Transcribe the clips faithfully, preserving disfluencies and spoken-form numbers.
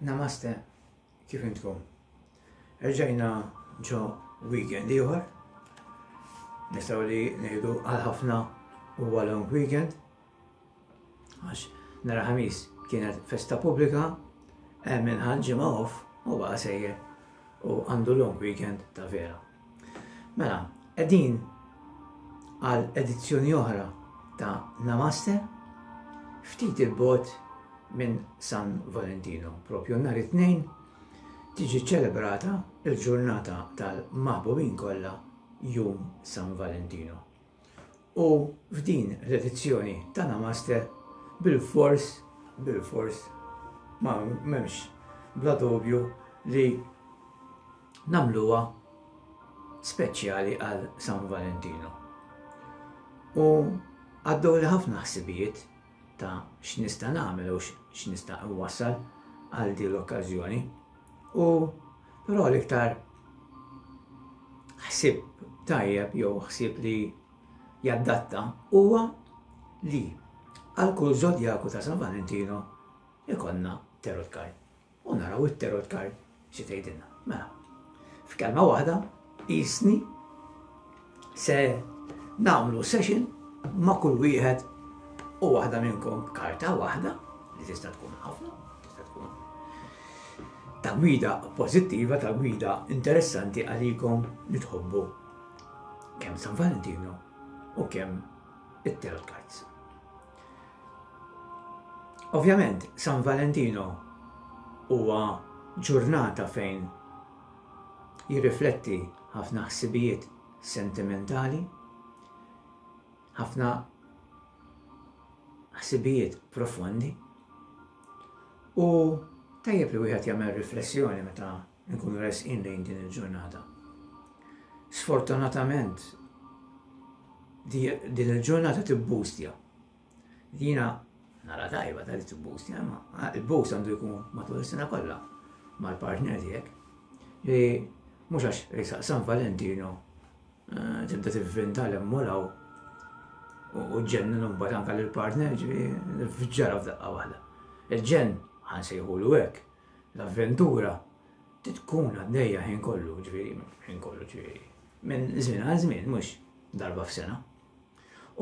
Namaste, kif intkom? Erġajna ġo weekend ieħor. Nistgħu li ngħidu għal ħafna huwa long weekend. Għax nhar Ħamis kienet festa pubblika, hemm min ħa ġimgħa off u baqa' sejjer u għandu long weekend ta' vera. Mela, qegħdin għal edizzjoni oħra ta' Namaste, ftit il-bogħod minn San Valentino. Propju nhar it-Tnejn tiġi ċelebrata il-ġurnata tal-maħbubin kollha, Jum San Valentino. U f'din l-edizzjoni ta' Namaste bil-fors, bil-fors, ma m'hemmx bla dubju li nagħmluha speċjali għal San Valentino. U għaddew li ħafna ħsibijiet ta' x'nista' nagħmel u x'nista' nwassal għal din l-okkażjoni. U però l-iktar ħsieb tajjeb jew ħsieb li jaddatta huwa li għal kull zodjaku ta' San Valentino ikollna tarot card. U naraw it-tarot card xi tgħidilna. Mela, f'kelma waħda, jisni se nagħmlu session ma' kull wieħed u waħda minnkom karta waħda li tista' tkun ħafna, tista' tkun ta' gwida pożittiva, ta' gwida interessanti għalikom li tħobbu kemm San Valentino u kemm it-tarot cards. Ovvjament, San Valentino huwa ġurnata fejn jirrifletti ħafna ħsibijiet sentimentali, ħafna ħsibijiet profondi, u tajjeb li wieħed jagħmel riflessjoni meta nkunu resqin lejn din il-ġurnata. Sfortunatament din il-ġurnata tibbustja. Dina nara tajba ta' li tibbustja, ma il-boost għandu jkun matul is-sena kollha mal-partner tiegħek. Li mhux għax resaq San Valentino tibda tivvinta l-emmulaw u ġennin mbagħad anke lill-partner, ġifieri fġara f'daqqa waħda. Il-ġenn ħa nsejħulu hekk, l-avventura tkun għaddejja ħin kollu, ġifieri ħin kollu, ġifieri minn żmien għal żmien, mhux darba f'sena.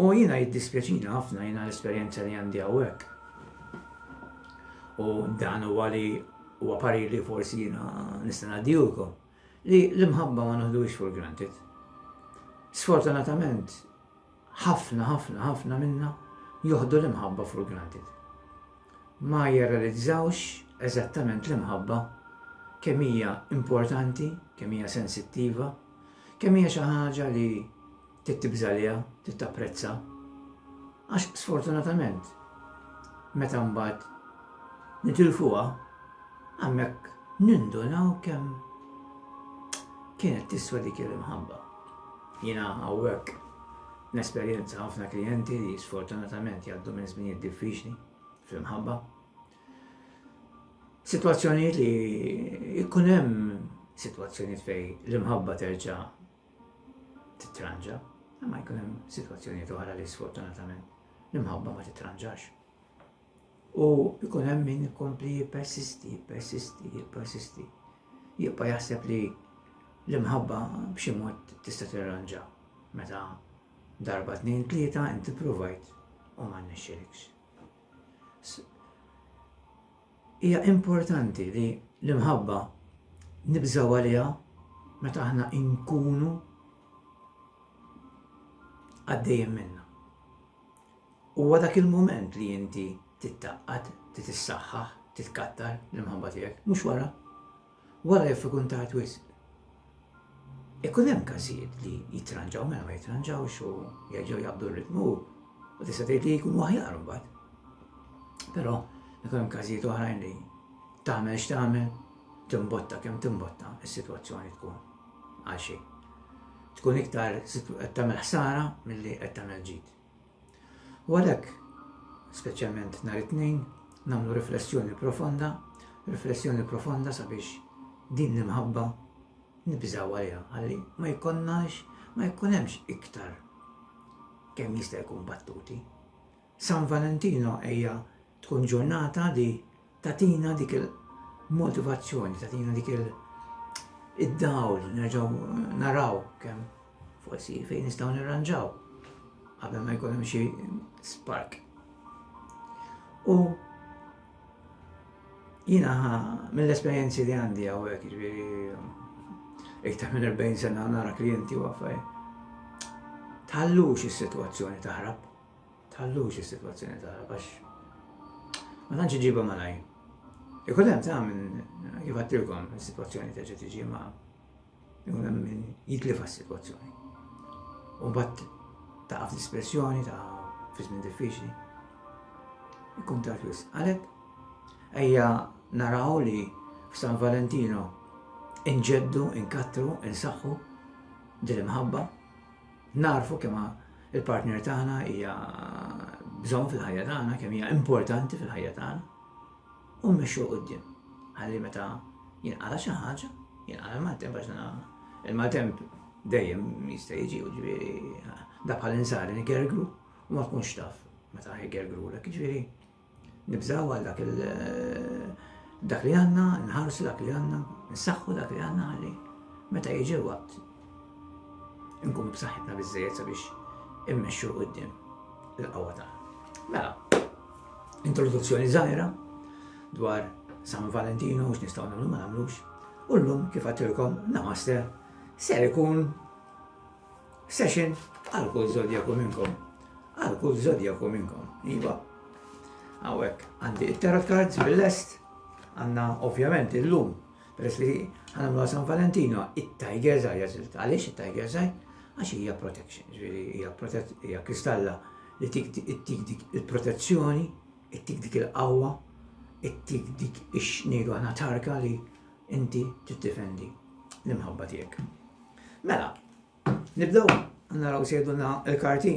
U jiena jiddispjaċina ħafna, jiena l-esperjenza li għandi hawnhekk. U dan huwa li huwa parir li forsi jiena nista' ngħaddihulkom, li l-imħabba ma noħduhiex for granted. Sfortunatament, ħafna, ħafna, ħafna minna joħdu l-imħabba for granted. Ma jirrealizzawx eżattament l-imħabba kemm hija importanti, kemm hija sensittiva, kemm hija xi ħaġa li titibża liha, titapprezza. Għax sfortunatament, meta mbagħad nitilfuha, hemmhekk nindunaw kemm kienet tiswa dik l-imħabba. Jiena hawnhekk nesperjenza ħafna klijenti li sfortunatament jgħaddu minn żminijiet diffiċli fl-imħabba. Sitwazzjonijiet li jkun hemm sitwazzjonijiet fejn l-imħabba terġa' titranġa, imma jkun hemm sitwazzjonijiet oħra li sfortunatament l-imħabba ma titranġax. U jkun hemm min ikompli jippersisti, jippersisti, jippersisti. Jibqa' jaħseb li l-imħabba b'xi mod tista' tirranġa meta darba tnejn tlieta inti provajt u ma rnexxilekx. Hija importanti li l-imħabba nibżgħu għaliha meta aħna nkunu għaddejjem minna. Huwa dak il-mument li inti tittaqqad, titissaħħaħ, titkattar l-imħabba tiegħek, mhux wara. Wara jaf ikun tard wisq. Ikun hemm każijiet li jitranġaw mela ma jitranġawx u jerġgħu jaqbdu r-ritmu u tista' tgħid li jkunu aħjar imbagħad. Però ikun hemm każijiet oħrajn li tagħmel x'tagħmel, timbotta kemm timbotta, is-sitwazzjoni tkun għal xejn. Tkun iktar qed tagħmel ħsara milli qed tagħmel ġid. U għalhekk, speċjalment nhar it-Tnejn, nagħmlu riflessjoni profonda, riflessjoni profonda sabiex din l-imħabba nibżgħu għaliha, ħalli ma jkollnax, ma jkun hemmx iktar kemm jista' jkun battuti. San Valentino hija tkun ġurnata li tatina dik motivazzjoni, tagħtina dik il- id-dawl, nerġgħu naraw kemm forsi fejn nistgħu nirranġaw qabel ma jkun hemm xi spark. U jiena mill-esperjenzi li għandi hawnhekk, jiġifieri iktar minn erbgħin sena nara klijenti u affarijiet. Tħallux is-sitwazzjoni taħrab. Tħallux is-sitwazzjoni taħrab għax ma tantx iġibha malaj. Ikun hemm ta' minn kif għedtilkom is-sitwazzjoni terġa' tiġi, ma ikun hemm min jitlifa s-sitwazzjoni. U mbagħad taqa' f'dispressjoni, ta' fi żmien diffiċli. Ikun tard wisq. Għalhekk ejja naraw li f'San Valentino inġeddu, inkattru, insaħħu din l-imħabba, narfu kemm il-partner tagħna hija bżonn fil-ħajja tagħna, kemm hija importanti fil-ħajja tagħna, u mmexxu quddiem. Ħalli meta jinqala xi ħaġa, jinqala l-maltemp, għax il-maltemp dejjem jista' jiġi, u ġifieri da bħal insari nigergru u ma tkunx taf meta ħigergrulek, ġifieri nibżaw għal dak il- dak li għandna, nħarsu dak li għandna, nsaħħu dak li għandna ħalli meta jiġi l-waqt nkunu b'saħħitna biżżejjed sabiex immexxu 'l quddiem il-qawwa tagħna. Mela, introduzzjoni żgħira dwar San Valentino, x'nistgħu nagħmlu, ma nagħmlux. U llum, kif għedtilkom, namaste, ser ikun session għal kull zodjaku minnkom. Għal kull zodjaku minnkom. Iva. Hawnhekk għandi it-tarot cards bil-lest, għandna ovvjament illum, peress li ħa nagħmlu San Valentino, it-Tiger Eye għażilt. Għaliex it-Tiger Eye? Għax hija protection, ġifieri hija hija kristalla li tik dik il-protezzjoni, ittik dik il-qawwa, ittik dik ix-xnidu għana tarka li inti tiddefendi l-imħabba tiegħek. Mela, nibdew naraw x'jgħidulna il-karti.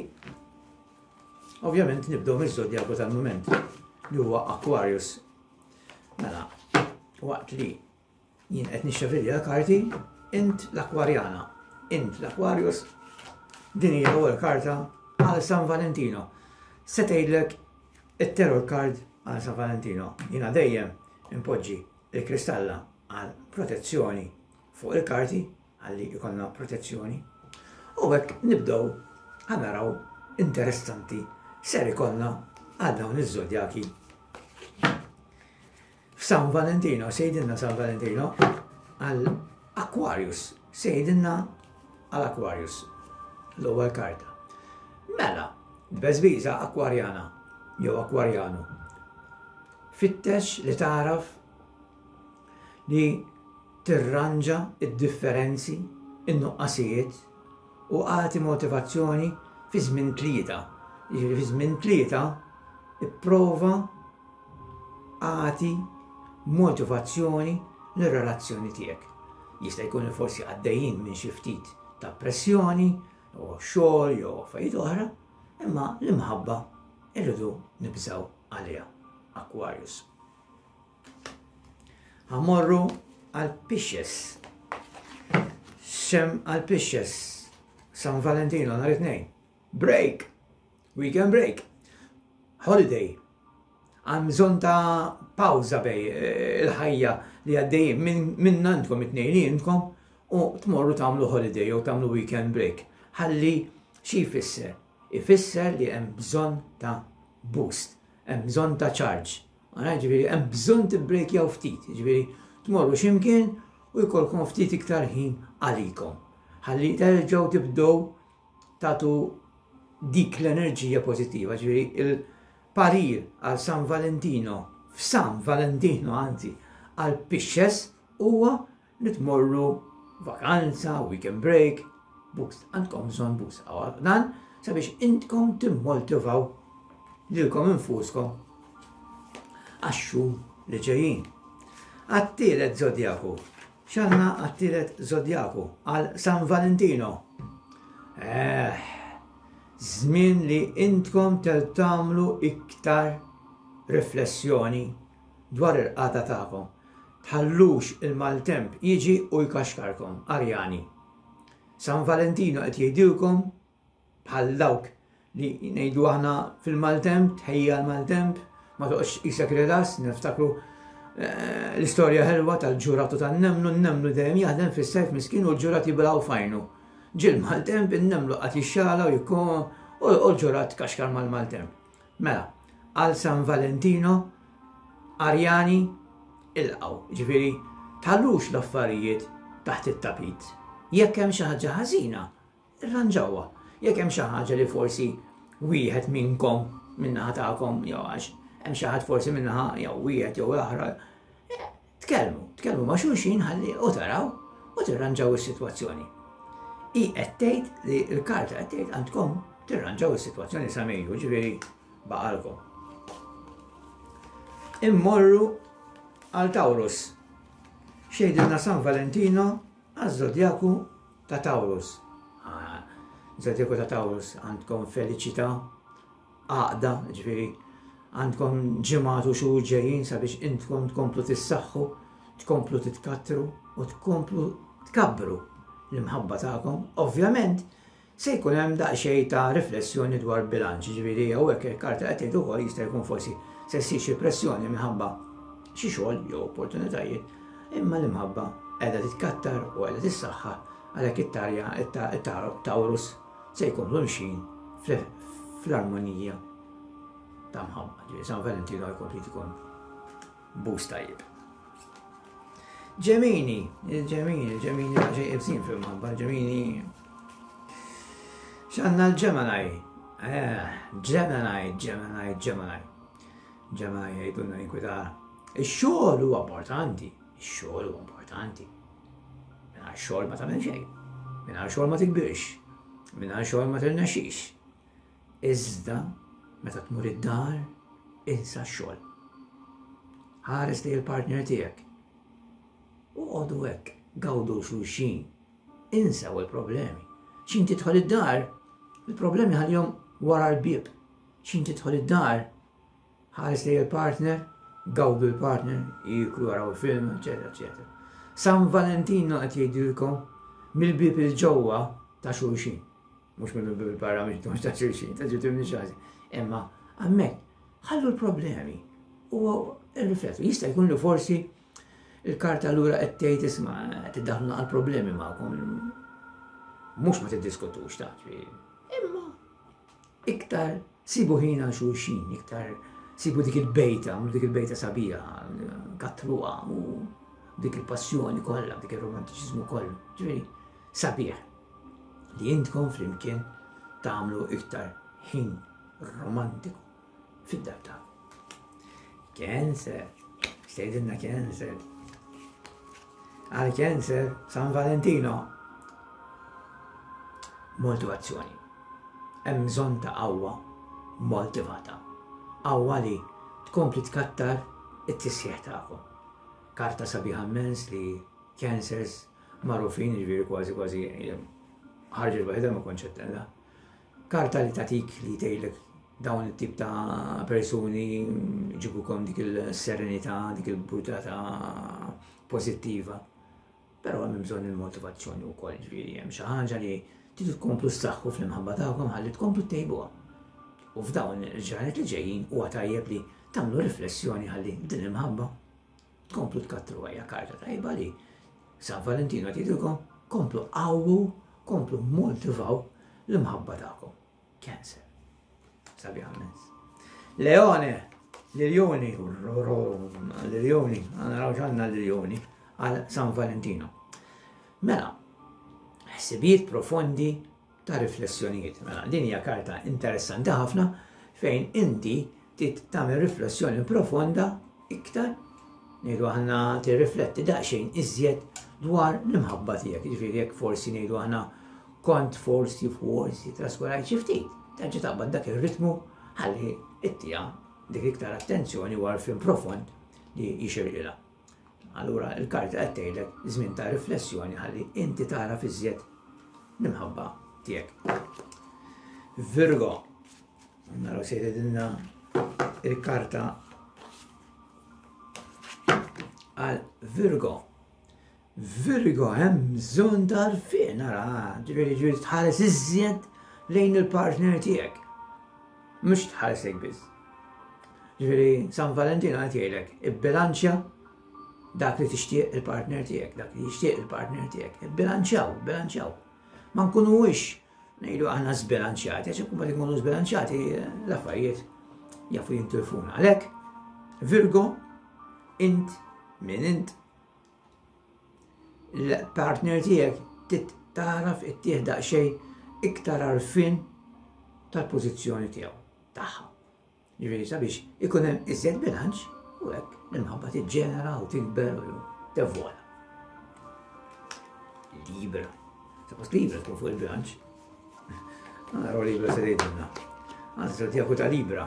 Ovvjament nibdew miż-żodjaku tal-moment li huwa Aquarius. Mela, waqt li jien qed nixxafilja l-karti, int l-Akwarjana, int l-Aquarius, din hija l-ewwel karta għal San Valentino. Se tgħidlek it-tarot card għal San Valentino? Jiena dejjem impoġġi il-kristalla għal protezzjoni fuq il-karti għalli jkollna protezzjoni. U hekk nibdew, ħa naraw interessanti ser ikollna għal dawn iż-żodjaki. F'San Valentino, x'jgħidilna San Valentino għal Aquarius, x'jgħidilna għal Aquarius, l-ewwel karta. Mela, beżbiża Akwarjana jew Akwarjanu. Fittex li taraf li tirranġa id-differenzi, in-nuqqasijiet u agħti motivazzjoni fi żmien tlieta. Jiġifieri fi żmien tlieta ipprova agħti motivazzjoni lir-relazzjoni tiegħek. Jista' jkun li forsi għaddejjin minn xi ftit ta' pressjoni, u xogħol jew affarijiet oħra, imma l-imħabba irridu nibżaw għaliha. Aquarius. Ħa mmorru għal Pisces. X'hemm għal Pisces? San Valentino nhar it-Tnejn. Break. Weekend break. Holiday. Għan bżonn ta' pawza bejn eh, il-ħajja li għaddejjin minn għandkom it-tnejn li intkom u tmorru tagħmlu holiday jew tagħmlu weekend break. Ħalli xi jfisser? Ifisser li hemm bżonn ta' boost, hemm bżonn ta' charge. Għana ġifieri hemm bżonn tibbrejkjaw ftit, ġifieri tmorru x'imkien u jkollkom ftit iktar ħin għalikom. Ħalli terġgħu tibdew tagħtu dik l-enerġija pożittiva, ġifieri il-parir għal San Valentino, f'San Valentino anzi, għal Pisces huwa li tmorru vakanza, weekend break, boost, għandkom bżonn boost. Dan sabiex intkom timmotivaw lilkom infuskom għax-xhur li ġejjin. Għat-tielet zodjaku. X'għandna għat-tielet zodjaku għal San Valentino? Eh, żmien li intkom tagħmlu iktar riflessjoni dwar il-qagħda tagħkom. Tħallux il-maltemp jiġi u jkaxkarkom, Arjani. San Valentino qed jgħidilkom bħal dawk li ngħidu aħna fil-maltemp, tħejja l-maltemp, ma toqgħodx isek relax, niftakru eh, l-istorja ħelwa tal-ġuratu tan-nemlu, n-nemlu dejjem jaħdem fis-sajf miskin u l-ġurat jibilgħu fajnu. Ġie l-maltemp, in-nemlu qagħad jixxala u jkun u l-ġurat kaxkar mal-maltemp. Mela, għal San Valentino, Arjani, ilqgħu, ġifieri, tħallux l-affarijiet taħt it-tapit. Jekk hemm xi ħaġa ħażina, irranġawha. Jekk hemm xi ħaġa li forsi wieħed minnkom min-naħa tagħkom jew għax hemm xi ħadd forsi min-naħa jew wieħed jew l-oħra, eh, tkellmu, tkellmu ma' xulxin ħalli u taraw u tirranġaw is-sitwazzjoni. I qed tgħid li l-karta qed tgħid għandkom tirranġaw is-sitwazzjoni sa Mejju, ġifieri baqalkom. Immorru għal Taurus. X'jgħidilna San Valentino għaż-żodjaku ta' Taurus. Ah, Żodjaku ta' Taurus għandkom feliċità, għaqda, ġifieri għandkom ġimgħat u xhur ġejjin sabiex intkom tkomplu tissaħħu, tkomplu titkattru u tkomplu tkabbru l-imħabba tagħkom. Ovvjament, se jkun hemm daqsxejn ta' riflessjoni dwar bilanċ, ġifieri hawnhekk il-karta qed tgħid ukoll jista' jkun forsi se ssir xi pressjoni minħabba xi xogħol jew opportunitajiet, imma l-imħabba qiegħda titkattar u qiegħda tissaħħa għalhekk it-tarja it-Taurus se jkomplu mxin fl-armonija ta' mħabba. Ġifieri San Valentino jkompli jtikom boost tajjeb. Ġemini, il-Ġemini, il-Ġemini ġej ibsin fil-mħabba, Ġemini. X'għandna l-Gemini? Eh, Gemini, Gemini, Gemini. Gemini jgħidulna jinkwita. Ix-xogħol huwa importanti, ix-xogħol huwa importanti. Mingħajr xogħol ma tagħmel xejn. Mingħajr xogħol ma tikbirx. Mingħajr xogħol ma tirnexxix. Iżda meta tmur id-dar, insa x-xogħol. Ħares li l-partner tiegħek. U għodu hekk, gawdu xulxin. Insaw il-problemi. X'ħin tidħol id-dar, il-problemi ħallihom wara l-bieb. X'ħin tidħol id-dar, ħares li il-partner, gawdu l-partner, jiklu jaraw film, eccetera, eccetera. San Valentino qed jgħidilkom mill-bieb il-ġewwa ta' xulxin. Mhux mill-bieb il-barra mhux ta' xulxin, ta' ġitu minn Imma hemmhekk ħallu l-problemi u rriflettu. Jista' jkun li forsi il-karta allura qed tgħid isma' qed tiddaħlu għal problemi magħkom. Mhux ma tiddiskutux ta' imma iktar sibu ħin għal xulxin, iktar sibu dik il-bejta, dik il-bejta sabiħa, kattruha, u dik il-passjoni kollha, dik il-romantiċiżmu kollu. Ġifieri, sabiħ li intkom flimkien tagħmlu iktar ħin romantiku fid-dar tagħkom. Cancer, x'tgħidilna Cancer? Għal Cancer, San Valentino. Motivazzjoni. Hemm bżonn ta' qawwa motivata. Qawwa li tkompli tkattar it-tisħiħ tagħkom. Karta sabiħa immens li Cancers magħrufin, ġifieri kważi kważi ħarġet waħedha ma kontx qed Karta li tatik li tgħidlek dawn it-tip ta' persuni ġibukom dik il-serenità, dik il-burdata pożittiva. Però hemm bżonn il-motivazzjoni wkoll, ġifieri hemm xi ħaġa li tridu tkomplu ssaħħu fl-imħabba tagħkom ħalli tkomplu ttejbuha. U f'dawn il-ġranet li ġejjin huwa tajjeb li tagħmlu riflessjoni ħalli din il-mħabba tkomplu tkattru hija karta tajba li San Valentino tgħidilkom komplu qawwu, komplu motivaw l-imħabba tagħkom. Cancer. Sabiħ immens. Leone, l-Iljuni, l-Iljuni, naraw x'għandna l-Iljuni għal San Valentino. Mela, ħsibijiet profondi ta' riflessjonijiet. Mela, din hija karta interessanti ħafna fejn inti trid tagħmel riflessjoni profonda iktar ngħidu aħna tirrifletti daqsxejn iżjed dwar l-imħabba tiegħek. Jiġifieri jekk forsi ngħidu aħna kont forsi forsi traskurajt xi ftit, terġa' taqbad dak ir-ritmu ħalli ittiha dik iktar attenzjoni u għarfien profond li jixirqilha. Allura il-karta qed tgħidlek żmien ta' riflessjoni ħalli inti tara iżjed l-imħabba tiegħek. Virgo, naraw se jgħidilna il-karta għal Virgo. Virgo hemm bżonn ta' għarfien, ara, ġifieri ġifieri tħares iżjed lejn il-partner tiegħek. Mhux tħares lejk biss. Ġifieri San Valentino qed jgħidlek ibbilanċja Dak li tixtieq il-partner tiegħek, dak li jixtieq il-partner tiegħek. Bilanċjaw, bilanċjaw. Ma nkunux ngħidu aħna żbilanċjati, għax ikun ma nkunu żbilanċjati l-affarijiet jafu jintilfuna. Għalhekk, Virgo, int min int, l-partner tiegħek trid tagħraf ittih daqsxejn iktar għarfien tal-pożizzjoni tiegħu tagħha. Ġifieri sabiex ikun hemm iżjed bilanċ u hekk l-imħabba tiġġenera u tikber u tevola. Libra. Suppost Libra tkun fuq il-bilanċ. Naraw Libra se tgħidilna. Għażla tiegħek ta' Libra.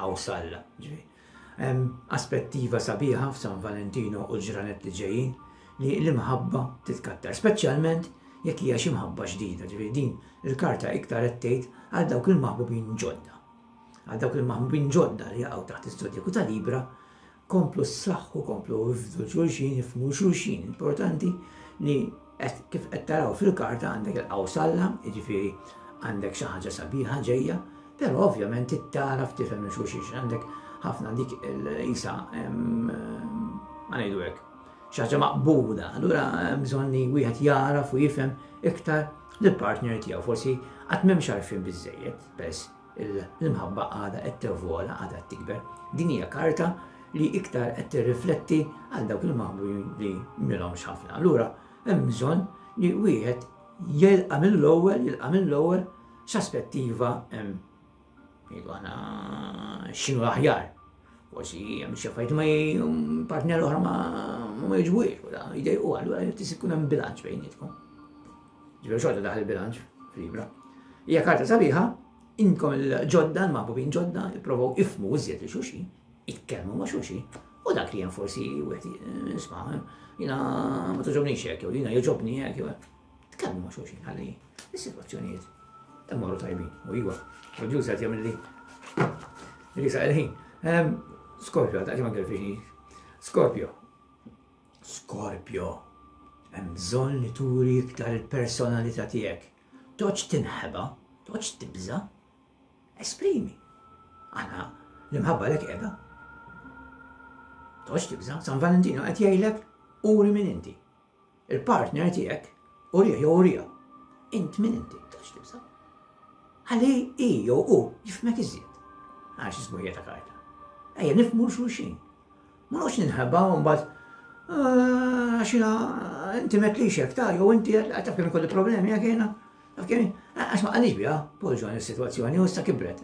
Awsalla, ġifieri. Aspettiva sabiħa f'San Valentino u l-ġranet li ġejjin li l-imħabba titkattar, speċjalment jekk hija xi mħabba ġdida, ġifieri din il-karta iktar qed tgħid għal dawk il-maħbubin ġodda. Għal dawk il-maħbubin ġodda li jaqgħu taħt iż-żodjaku ta' Libra, komplu s-saħħu, komplu ifdu xulxin, ifhmu xulxin. Importanti li kif qed taraw fil-karta għandek il-qawsalla, jiġifieri għandek xi ħaġa sabiħa ġejja, però ovvjament tagħraf tifhem xulxin, għandek ħafna dik il-isa ma ngħidu hekk, xi ħaġa maqbuda, allura hemm bżonn li wieħed jaraf u jifhem iktar lill-partner tiegħu, forsi qatt m'hemmx għarfien biżejjed, peress l-imħabba għadha qed tevola, għadha qed tikber. Din hija karta li iktar qed tirrifletti għal dawk il-maħbubin li m'ilhomx ħafna. Allura hemm bżonn li wieħed jilqa' mill-ewwel, jilqa' mill-ewwel x'aspettiva hemm ngħidu aħna x'inhu l-aħjar. Forsi hemm xi affarijiet ma partner oħra ma ma jogħġbuhiex, u jdejqu, allura jrid ikun hemm bilanċ bejnietkom. Ġifieri xorta daħal il-bilanċ f'Libra. Hija karta sabiħa, inkom il-ġodda, l-maħbubin ġodda, ipprovaw ifhmu iżjed li xulxin, itkellmu ma' xulxin, u dak li hemm forsi wieħed isma' jiena ma togħġobnix hekk, jew jiena jogħġobni hekk, jew tkellmu ma' xulxin ħalli is-sitwazzjonijiet imorru tajbin. U iwa, u ġuż qed jagħmel li risa il-ħin. Scorpio, ta' ma kelfix. Scorpio. Scorpio. Hemm bżonn li turi iktar il-personalità tiegħek. Toqgħodx tinħeba, toqgħodx tibża'. Esprimi. Aħna l-imħabba lek qiegħda. Toqgħodx tibża', San Valentino qed jgħidlek uri min inti. Il-partner tiegħek urih jew urija. Int min inti, toqgħodx tibża'. Ħalli i jew u jifhmek iżjed. Għax isbuħija ta' karta. Ejja nifhmu xulxin. Ma noqgħodx ninħeba u mbagħad għax jiena inti m'għedtlix hekk ta' jew inti taf kemm ikolli problemi jekk jiena. Taf kemm għax ma qalix biha, poġġu is-sitwazzjoni u issa kibret.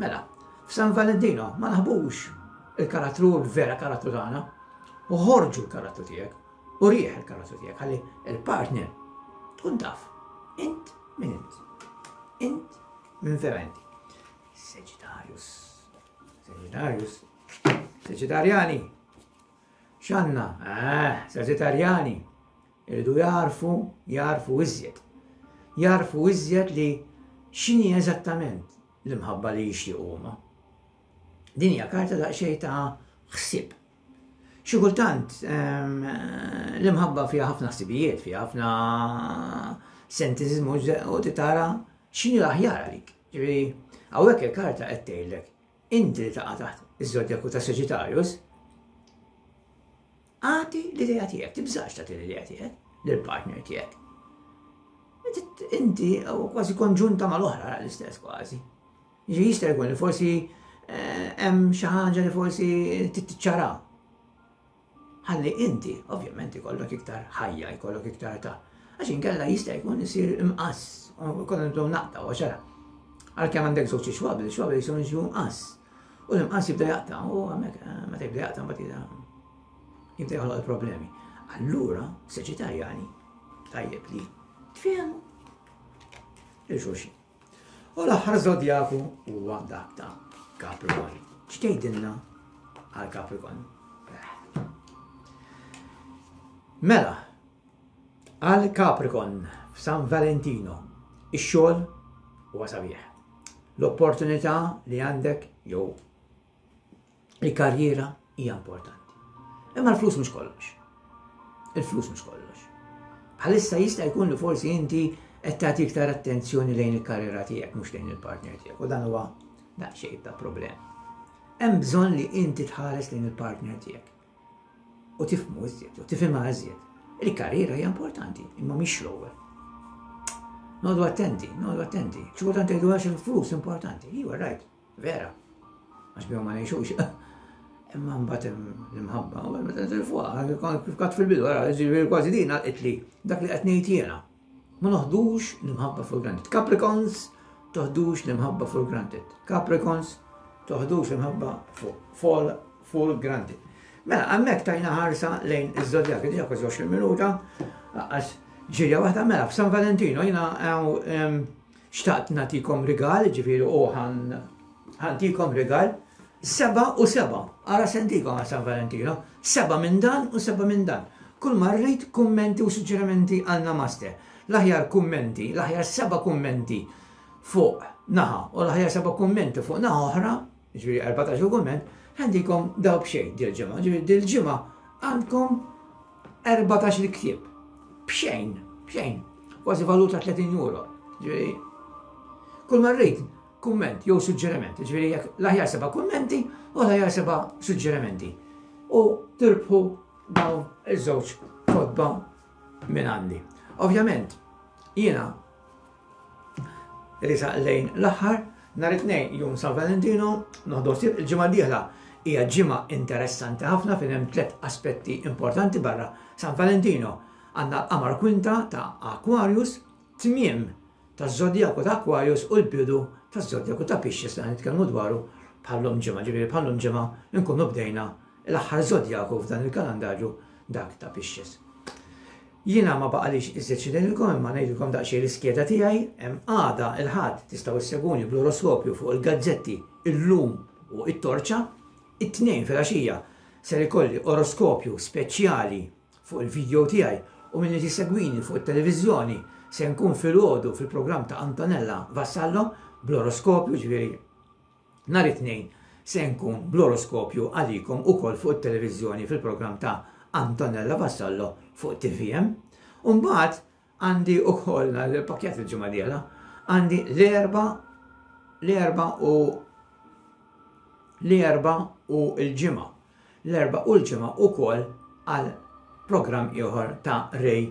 Mela, f'San Valentino ma naħbux il-karattru, il-vera karattru tagħna, u ħorġu l-karattru tiegħek, u rieħ il-karattru tiegħek, ħalli il-partner tkun taf. Int min int. Int min vera inti. Sagittarius. Sagittarius. Sagittariani. X'għandna? Eh, Sagittariani. Iridu jarfu, jarfu iżjed. Jarfu iżjed li x'inhi eżattament l-imħabba li jixtiequ huma. Din hija karta daqsxejn ta' ħsieb. Xi kultant l-imħabba fiha ħafna ħsibijiet, fiha ħafna sentizmu u titara x'inhi l-aħjar għalik. Ġifieri, hawnhekk il-karta qed tgħidlek inti li taqa' taħt iż-żodjaku ta' Sagittarius, agħti l-idea tiegħek, tibżax tagħti l-idea tiegħek lill-partner tiegħek. Inti kważi konġunta mal-oħra l-istess kważi. Ġi jista' jkun li forsi hemm xi ħaġa li forsi titċara. Ħalli inti, ovvjament, ikollok iktar ħajja, jkollok iktar ta' għax inkella jista' jkun isir imqass, u kollha nibdew naqta' u ċara. Għalkemm għandek żewġ xwabel, xwabel jistgħu jiġu mqass. U l-imqass jibda jaqta' u hemmhekk meta jibda jaqta' mbagħad jibda joħloq il-problemi. Allura, Sagittariani, tajjeb li tfehmu il-xulxin. U l-aħħar żodjaku huwa dak ta' Capricorn. X'tgħidilna għal Capricorn? Mela, għal Capricorn f'San Valentino, ix-xogħol huwa sabiħ. L-opportunità li għandek jew il-karriera hija importanti. Imma l-flus mhux kollox. Il-flus mhux kollox. Bħalissa jista' jkun li forsi inti qed tagħti iktar attenzjoni lejn il-karriera tiegħek mhux lejn il-partner tiegħek u dan huwa daqsxejn ta' problem. Hemm bżonn li inti tħares lejn il-partner tiegħek. U tifhmu iżjed, u tifhimha iżjed. Il-karriera hija importanti, imma mhix l-ewwel. Noqogħdu attenti, noqogħdu attenti. Xi kultant tgħidu għax il-flus importanti. Iva, right, vera. Għax bihom ma ngħixux. Imma mbagħad l-imħabba, u meta nitilfuha, kif għedt fil-bidu, ġifieri kważi din għalqitli dak li qed ngħid jiena. Ma noħdux l-imħabba for granted. Capricorns, toħdux l-imħabba for granted. Capricorns, toħdux l-imħabba for, for granted. Mela, hemmhekk tajna ħarsa lejn iż-żodjak, diġà kważi għoxrin minuta, għax ġirja waħda. Mela, f'San Valentino jiena xtaqt nagħtikom rigal, ġifieri u ħa ntikom rigal, seba u seba, ara se ntikom għal San Valentino, seba minn dan u seba minn dan. Kull ma rrid, kummenti u suġġerimenti għal Namaste. L-aħjar kummenti, l-aħjar seba kummenti fuq naħa u l-aħjar seba kummenti fuq naħa oħra, ġifieri erbatax kumment, ħa ntikom daw b'xejn dil-ġimgħa. Ġifieri dil-ġimgħa għandkom erbatax il-ktieb. B'xejn, b'xejn. Kważi valuta tletin euro. Ġifieri, kull ma rrid, kumment jew suġġeriment. Ġifieri jekk l-aħjar seba' kummenti u l-aħjar seba' suġġerimenti. U tirbħu dawn iż-żewġ kotba minn għandi. Ovvjament, jiena riesaq lejn l-aħħar, nhar it-Tnejn jum San Valentino, noħdu ħsieb. Il-ġimgħa d-dieħla hija ġimgħa interessanti ħafna fejn hemm tliet aspetti importanti barra San Valentino. Għandna l-qamar kwinta ta' Aquarius, tmiem ta' Zodiaku ta' Aquarius u l-bidu ta' Zodiaku ta' Pisces li nitkellmu dwaru bħal-lum ġimgħa. Ġifieri bħal-lum ġimgħa nkunu bdejna l-aħħar Zodiaku f'dan il-kalendarju, dak ta' Pisces. Jiena ma baqalix iżjed xi ngħidilkom, imma ngħidilkom daqsxejn l-iskeda tiegħi. Hemm għada il-Ħadd tistgħu isseguni bl-oroskopju fuq il-gazzetti Illum u It-Torċa. It-Tnejn filgħaxija ser ikolli oroskopju speċjali fuq il-video tiegħi u min jsegwini fuq it-televiżjoni se nkun filgħodu fil-programm ta' Antonella Vassallo bl-oroskopju, ġifieri nhar it-Tnejn se nkun bl-oroskopju għalikom ukoll fuq it-televiżjoni fil-programm ta' Antonella Vassallo fuq T V M. Umbagħad għandi ukoll l-pakket il-ġimgħa dieħla, għandi l-Erbgħa l-Erbgħa u l-Erbgħa u l-Ġimgħa. L-Erbgħa u l-Ġimgħa ukoll għal programm ieħor ta' Ray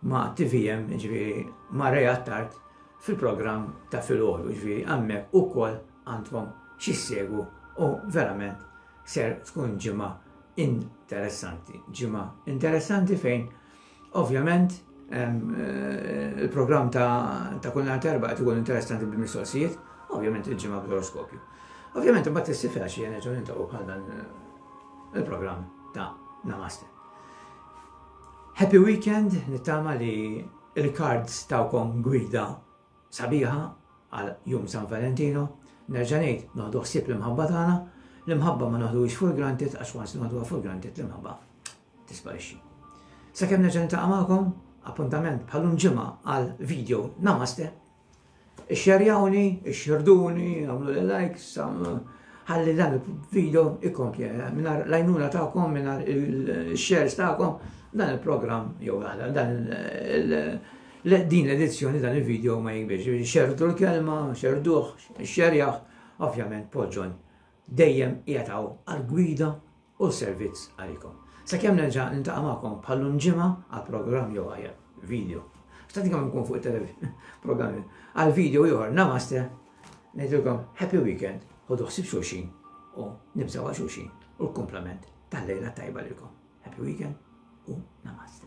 ma' T V M, ġifieri ma' Ray Attard fil-programm ta' filgħodu, ġifieri hemmhekk ukoll għandkom x'issegwu u verament ser tkun ġimgħa interessanti. Ġimgħa interessanti fejn ovvjament eh, il-programm ta', ta kull nhar Erbgħa qed ikun interessanti bil-mistoqsijiet, ovvjament il-Ġimgħa bl-oroskopju. Ovvjament imbagħad is-Sibt filgħaxija nerġgħu niltaqgħu bħal dan eh, il-programm ta' Namaste. Happy weekend, nittama li il-cards tawkom gwida sabiħa għal jum San Valentino. Nerġa' ngħid, noħdu ħsieb l-imħabba tagħna, l-imħabba ma noħduhiex for granted, għax once noħduha for granted, l-imħabba tisparixxi. Sakemm nerġa' niltaqa' magħkom, appuntament bħal-lum ġimgħa għal video Namaste. Ixxerjawni, ixxirduni, għamlu likes, ħalli dan il-video ikompli. Mingħajr l-għajnuna tagħkom, mingħajr il-shares tagħkom, dan il-program jew dan din l-edizzjoni, dan il-video ma jikbirx. Xerdu l-kelma, xerduh, xerjaħ, ovvjament Paul John dejjem qiegħed għal-gwida u servizz għalikom. Sakemm nerġa' niltaqa' magħkom bħal-lum ġimgħa għal programm jew għal video. Xtaqt kemm nkun fuq il-programm għal video ieħor Namaste, ngħidilkom happy weekend, ħodu ħsieb xulxin u nibżgħu għal xulxin u l-kumplament tal-lejla tajba lilkom. Happy weekend u Namaste.